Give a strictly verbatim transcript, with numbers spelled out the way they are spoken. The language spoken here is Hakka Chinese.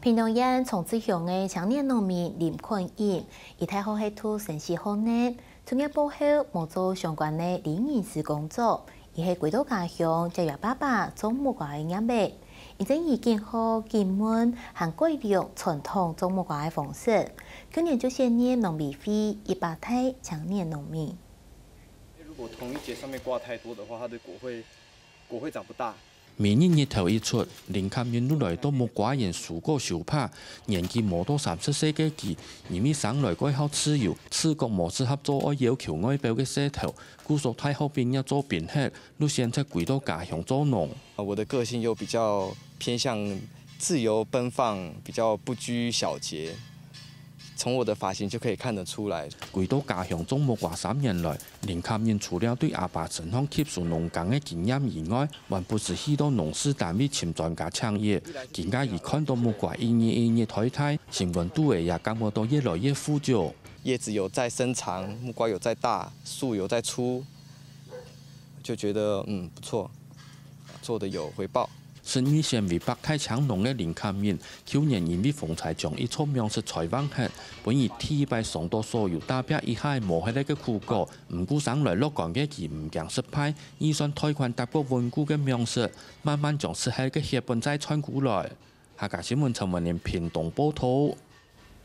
屏東縣長治鄉个青年農民林坤英，佢大學係讀生死學呢，出業過後無做相關个理人師工作，佢係歸到家鄉接佢爸爸種木瓜个業仔。因為經學、經問還改良傳統種木瓜个方式，去年就選入農委會一百大青年農民。如果同一节上面挂太多的话，它的果会果会长不大。每日日頭一出，林崁英就來到木瓜園收果收把。年紀無到三十歲个佢，因為生來蓋好自由，自覺無適合做愛要求外表个事頭，故所大學畢業做兵忒，就選擇歸到家鄉做農。我的个性又比较偏向自由奔放，比较不拘小节。从我的发型就可以看得出来。歸到家乡種木瓜三年來，林崁英除了對阿爸身上吸收農耕个經驗以外，還不時去到農事單位尋專家請益。今下佢看到木瓜一日一日大大，心肝肚仔也感覺到越來越富足。叶子有在生长，木瓜有在大，树有在粗，就觉得嗯不错，做的有回报。 十二選為百大青農个林崁英，舊年因為風災將一座糧食災荒忒，分佢第一擺嚐到所有打拚一下無忒个苦果。毋過生來樂觀个佢毋驚失敗，預算貸款搭過穩固个糧食，慢慢將失忒个血本再賺過來。客家新聞陳文林屏東報導。